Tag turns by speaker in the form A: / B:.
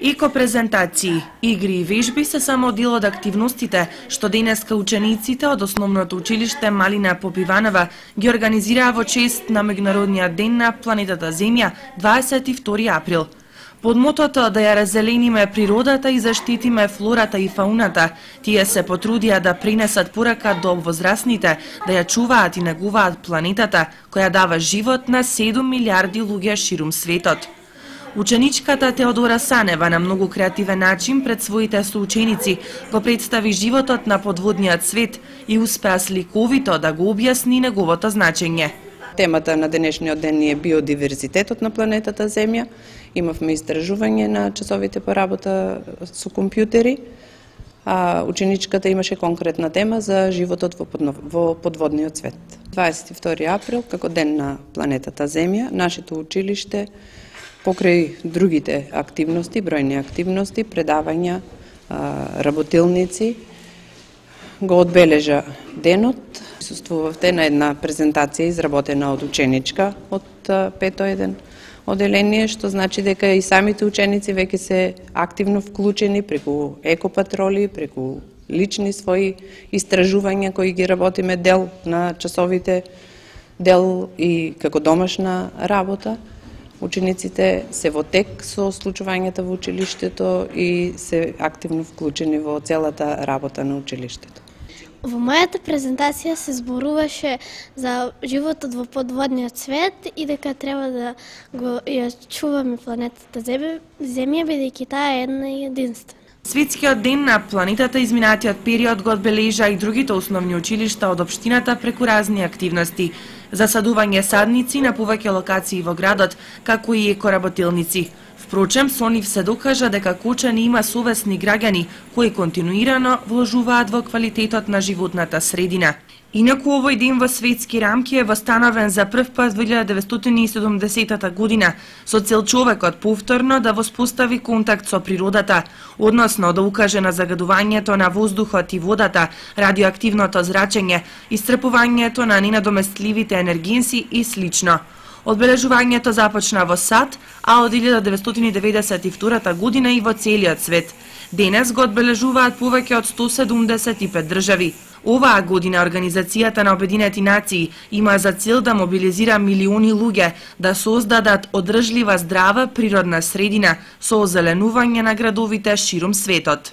A: Еко-презентации, игри и вежби се само дел од активностите што денеска учениците од Основното училиште Малина Попиванова ги организираа во чест на Меѓународниот ден на планетата Земја 22 април. Под мотото да ја раззелениме природата и заштитиме флората и фауната, тие се потрудија да пренесат порака до возрастните да ја чуваат и негуваат планетата која дава живот на 7 милиарди луѓе ширум светот. Ученичката Теодора Санева на многу креативен начин пред своите соученици го представи животот на подводниот свет и успеа сликовито да го објасни неговото значење.
B: Темата на денешниот ден е биодиверзитетот на планетата Земја. Имавме истражување на часовите по работа со компјутери, а ученичката имаше конкретна тема за животот во подводниот свет. 22 април, како ден на планетата Земја, нашето училиште покрај другите активности, бројни активности, предавања, работилници, го одбележа денот. Присуствувавте на една презентација изработена од ученичка од 5-1 оделение, што значи дека и самите ученици веќе се активно вклучени преку екопатроли, преку лични своји истражувања кои ги работиме дел на часовите, дел и како домашна работа. Учениците се во тек со случувањата во училиштето и се активно вклучени во целата работа на училиштето.
C: Во мојата презентација се зборуваше за животот во подводниот свет и дека треба да ја чуваме планетата Земја, бидејќи таа е една и единствена.
A: Светскиот ден на планетата изминатиот период го одбележа и другите основни училишта од општината преку разни активности. Засадување садници на повеќе локации во градот, како и екоработилници. Впрочем, со нив се докажа дека Кочани има совесни граѓани кои континуирано вложуваат во квалитетот на животната средина. Инаку овој ден во светски рамки е востановен за прв пат во 1970 година со цел човекот повторно да воспостави контакт со природата, односно да укаже на загадувањето на воздухот и водата, радиоактивното зрачење, исцрпувањето на ненадоместливите енергенси и слично. Одбележувањето започна во САД, а од 1992 година и во целиот свет. Денес го одбележуваат повеќе од 175 држави. Оваа година Организацијата на Обединети нации има за цел да мобилизира милиони луѓе да создадат одржлива здрава природна средина со озеленување на градовите ширум светот.